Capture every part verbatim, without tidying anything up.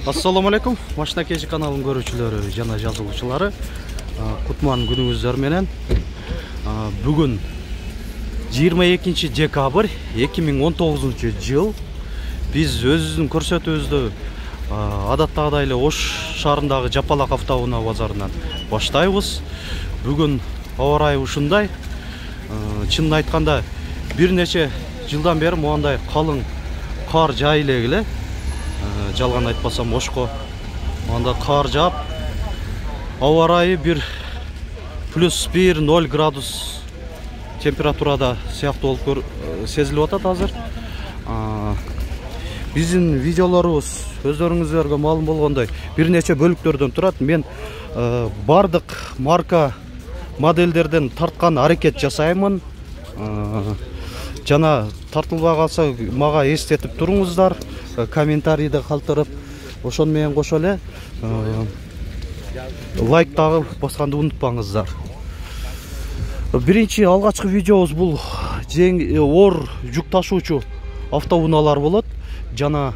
Assalamu alaikum. Машина кежи каналынын көрүүчүлөрү жана жазылуучулары. Кутман күнүңүздөр менен. Бүгүн жыйырма экинчи декабрь эки миң он тогузунчу жыл. Биз өзүбүздүн көрсөтүүбүздү адаттагыдай эле Ош шаарындагы Жапалак автоунаа базарынан баштайбыз. Бүгүн аба ырайы ушундай. Чынын айтканда бир нече жылдан бери моундай калың кар жай эле. Жалган айтпасам Ошко анда кар жаап, аба ырайы бир плюс бир ноль градус температурада сыяктуу болуп сезилип атат азыр. Биздин видеолорубуз өздөрүңүзгө маалым болгондой бир нече бөлүктөрдөн турат. Мен бардык марка модельдерден тарткан аракет жасаймын. Жана тартылбай калса мага эстетип туруңуздар, комментарийде калтырып, ошон менен кошо эле лайк дагы басканды унутпаңыздар. Биринчи алгачкы видеобуз бул оор жүк ташуучу автоунаалар болот. Жана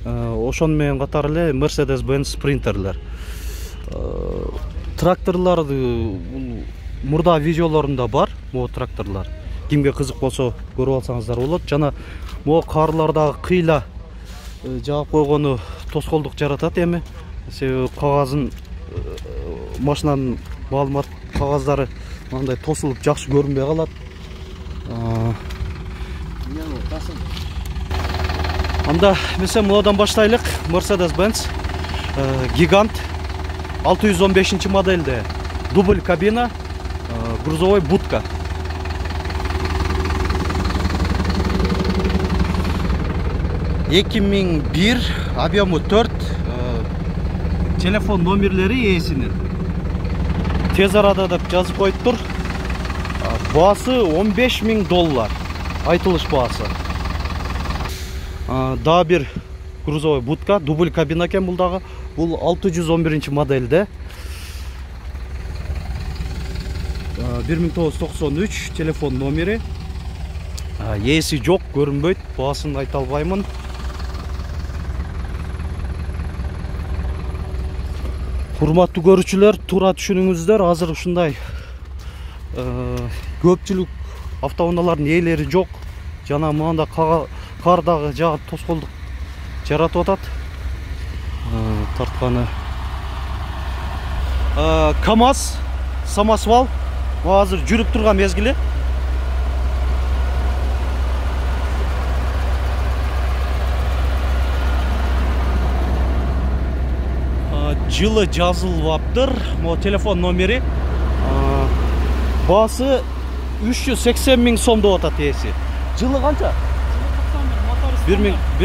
ошон менен катар эле Mercedes-Benz Sprinter'лер. Тракторлар мурда видеолорунда бар, могу тракторлар. Кимге кызык болсо көрүп алсаңыздар болот. Жана могу карлардагы кыйла жаап койгону тоскоолдук жаратат эми. Себеби кагазын машинанын маалымат кагаздары мындай тосулуп жакшы көрүнбөй калат. Анда мисалы мындан баштайлык. Mercedes-Benz Гигант алты жүз он бешинчи модельде дубль кабина, грузовой будка. эки миң бир, объему төрт, телефон номерлери ээсинин. Тез арада деп жазып коюптур. Баасы он беш миң доллар. Айтылыш баасы. Дагы бир грузовой будка, дубль кабина экен бул дагы. Бул алты жүз он биринчи модельде. бир миң тогуз жүз токсон үч телефон номери. Ээси жок, көрүнбөйт, баасын айта албаймын. Урматтуу көрүүчүлөр, туура түшүнүңүздөр, азыр ушундай көпчүлүк автоунаалардын ээлери жок. Жана мында кардагы жаап тоскоолдук жаратып атат. Тартканы КамАЗ, самосвал азыр жүрүп турган мезгили. Жылы жазылбаптыр. Мо телефон номери. Баасы үч жүз сексен миң сом деп атат ээси. Жылы канча? бир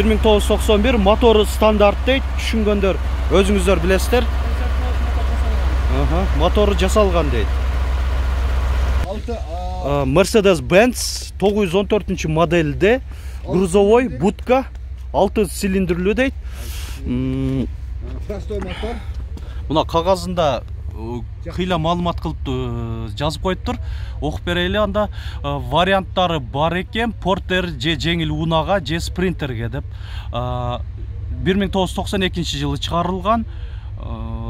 миң тогуз жүз токсон бир, мотору стандарт дейт. Түшүнгөндөр өзүңүздөр билесиздер. Мотору жасалган дейт. Mercedes-Benz тогуз жүз он төртүнчү модельде грузовой будка, алты цилиндрлүү дейт. Простой мотор. Мына кагазында кыйла маалымат кылып жазып коюптур. Окуп берели, анда варианттары бар экен. Портер же жеңил унага же спринтерге деп. бир миң тогуз жүз токсон экинчи жылы чыгарылган.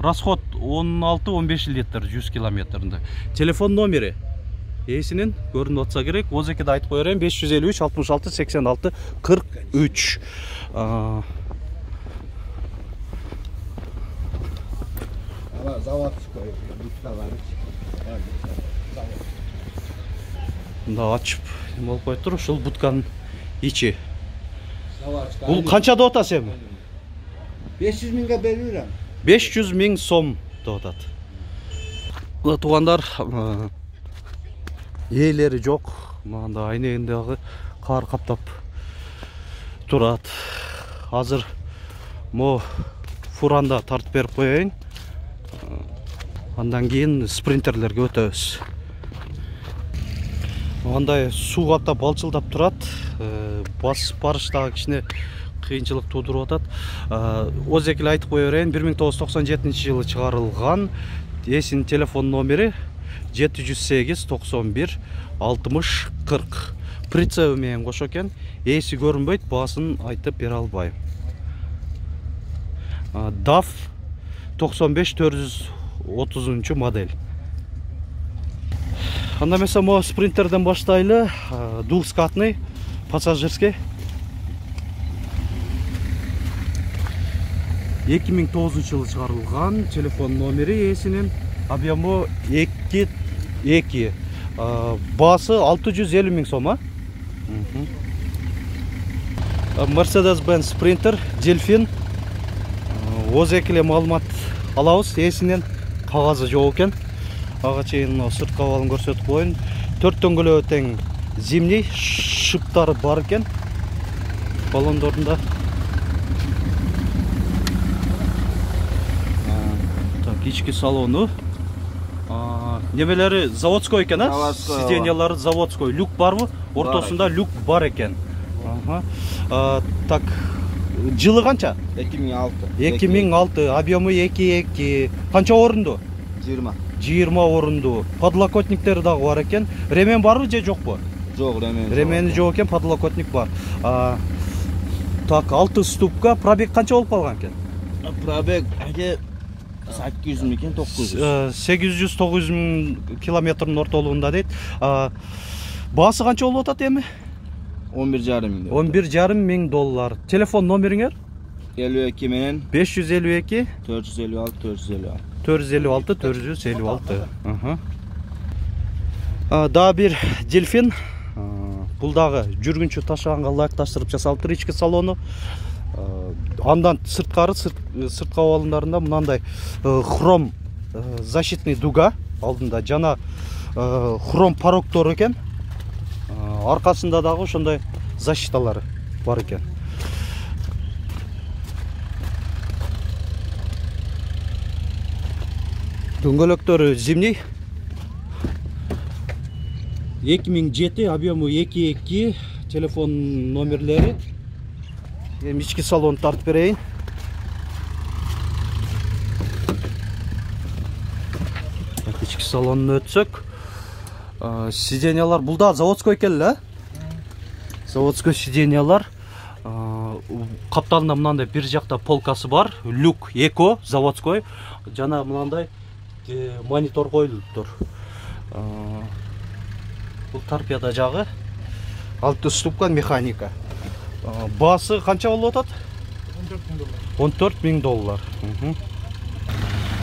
Расход он алты он беш литр жүз километринде. Телефон номери ээсинин көрүнүп атса керек. Озекеде айтып кое берейин: беш жүз элүү үч алтымыш алты сексен алты кырк үч. Заводской будкалары. Мында ачып болуп коюптур. Ушул будканын ичи. Бул канча деп атасыз эми? беш жүз миңге берүүрөм. беш жүз миң сом деп атат. Мына туугандар, ээлери жок. Мында айнегиндеги кар каптап турат. Азыр мо фуранда тартып берип коеюн. Андан кийин спринтерлерге өтөбүз. Андай суу каптап балчылдап турат. Басып барыштагы кичине кыйынчылык туудуруп атат. Озек эле айтып кое берейин: бир миң тогуз жүз токсон жетинчи жылы чыгарылган. Ээсинин телефон номери жети жүз сегиз токсон бир алтымыш кырк. Прицебы менен кошо экен. Ээси көрүнбөйт, баасын айтып бере албайм. даф токсон беш төрт жүз отузунчу модель. Анда эмесе могу спринтерден баштайлы. Двухскатный, пассажирский. эки миң тогузунчу жылы чыгарылган. Телефон номери ээсинин, объему эки эки. Баасы алты жүз элүү миң сом, а? Mercedes-Benz Sprinter, Delfin. Оз экиле маалымат алабыз. Ээсинин кагазы жок экен. Ага чейин сырт кабалын көрсөтүп коеюн. төрт дөңгөлөгү тең зимний, шыптары бар экен. Баллондорунда. Так, ички салону. Немелери заводской экен, а? Сиденьялары заводской. Люк барбы? Ортосунда люк бар экен. Ага. Так, жылы канча? эки миң алты. эки миң алты, объему эки эки. Канча орунду? жыйырма. жыйырма орунду. Подлокотниктери дагы бар экен. Ремен барбы же жокпу? Жок, ремен. Ремени жок экен, подлокотник бар. Так, алты ступка. Пробег канча болуп калган экен? Пробег сегиз жүз миң экен, токуз жүз. сегиз жүз тогуз жүз миң километрдин ортолугунда дейт. Баасы канча болуп атат эми? он бир жарым миң. он бир жарым миң доллар. Телефон номериңер? элүү эки менен беш жүз элүү эки төрт жүз элүү алты төрт жүз элүү алты. төрт жүз элүү алты төрт жүз элүү алты. Дагы бир Delfin. Бул дагы жүргүнчү ташаганга ылайыкташтырып жасалыптыр ички салону. Андан сырткары, сырт кабалындарында мындай хром защитный дуга алдында жана хром порогдор экен. Аркасында дагы ошондой защиталары бар экен. Дөңгөлөктөрү зимний. эки миң жети, объему эки эки, телефон номерлери. Эми ички салонду тартып берейин. Ички салонуна өтсөк, сиденьялар бул да заводской экен эле, а? Заводской сиденьялар. Капталында мынандай бир жакта полкасы бар, люк эко заводской, жана мынандай монитор коюлуптур. Бул торпеда жагы. Алты ступка механика. Баасы канча болуп атат? он төрт миң доллар.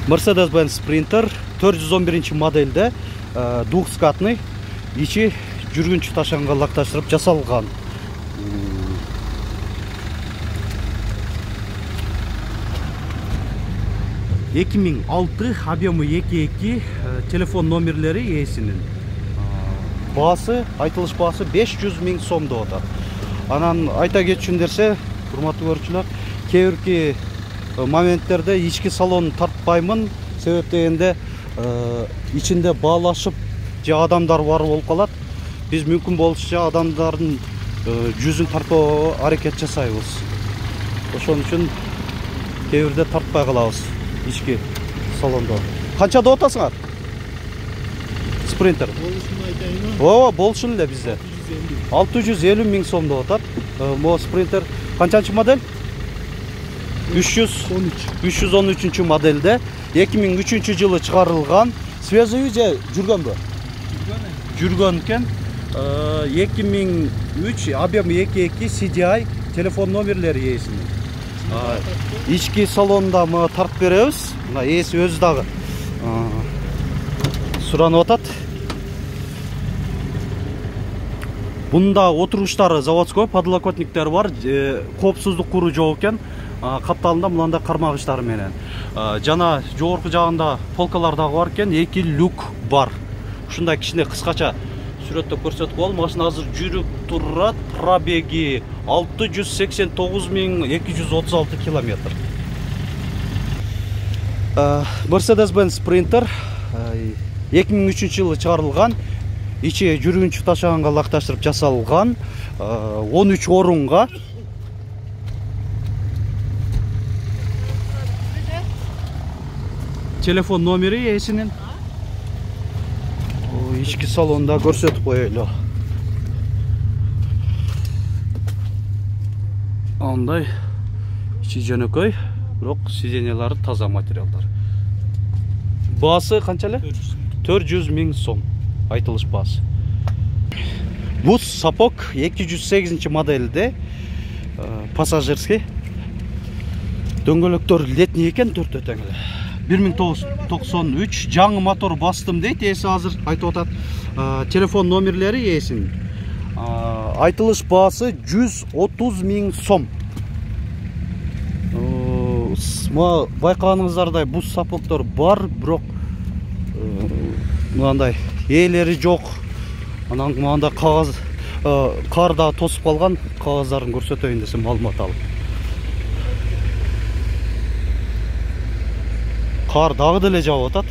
Mercedes-Benz Sprinter төрт жүз он биринчи модельде, двухскатный, ичи жүргүнчү ташаганга ылайыкташтырып жасалган. эки миң алты, объему эки эки, телефон номерлери ээсинин. Баасы, айтылыш баасы беш жүз миң сом деп атат. Анан айта кетчүн дерсе, урматтуу көрүүчүлөр, кээ бирки моменттерде ички салон тартпаймын, себеп дегенде ичинде баалашып же адамдар бар болуп калат. Биз мүмкүн болушунча адамдардын жүзүн тартпоо аракет жасайбыз. Ошон үчүн кээ бирде тартпай калабыз ички салондо. Канча деп атасыңар? Спринтер. Ооба, болушун эле бизде. алты жүз элүү миң сом деп атат. Мо спринтер канчанчы модель? үч жүз он үчүнчү модельде, эки миң үчүнчү жылы чыгарылган. Свежий же жүргөнбү? Жүргөн экен. эки миң үч, объем эки эки, си ди ай, телефон номерлери ээсинин. Ички салонда мы тартып беребиз. Мына ээси өзү дагы суранып атат. Бунда отуруштары заводской, подлокотниктер бар, коопсуздук куру жок экен. Капталында мындай кармагычтары менен. Жана жогорку жагында полкалар дагы бар экен, эки люк бар. Ушундай кичине кыскача сүрөттө көрсөтүп коелум. Машина азыр жүрүп турат. Пробеги алты жүз сексен тогуз миң эки жүз отуз алты километр. Mercedes-Benz Sprinter эки миң үчүнчү жылы чыгарылган. Ичи жүргүнчү ташаганга ылайыкташтырып жасалган. он үч орунга. Телефон номери ээсинин. Ички салонда көрсөтүп коелу. Андай ичи жөнөкөй, бирок сиденьялары таза материалдар. Баасы канча эле? төрт жүз миң сом айтылыш баасы. Бул сапог эки жүз сегизинчи моделде, пассажирский. Дөңгөлөктөр летний экен, төртөө тең эле. бир миң тогуз жүз токсон үч жаңы мотор бастым дейт, ээси азыр айтып атат. Телефон номерлери ээсинин. Айтылыш баасы жүз отуз миң сом. Байкаганыңыздардай бул сапогдор бар, бирок мындай ээлери жок. Анан мында кагаз карда тосуп калган, кагаздарын көрсөтөйүн десем маалымат алып. Кар дагы деле жаап атат.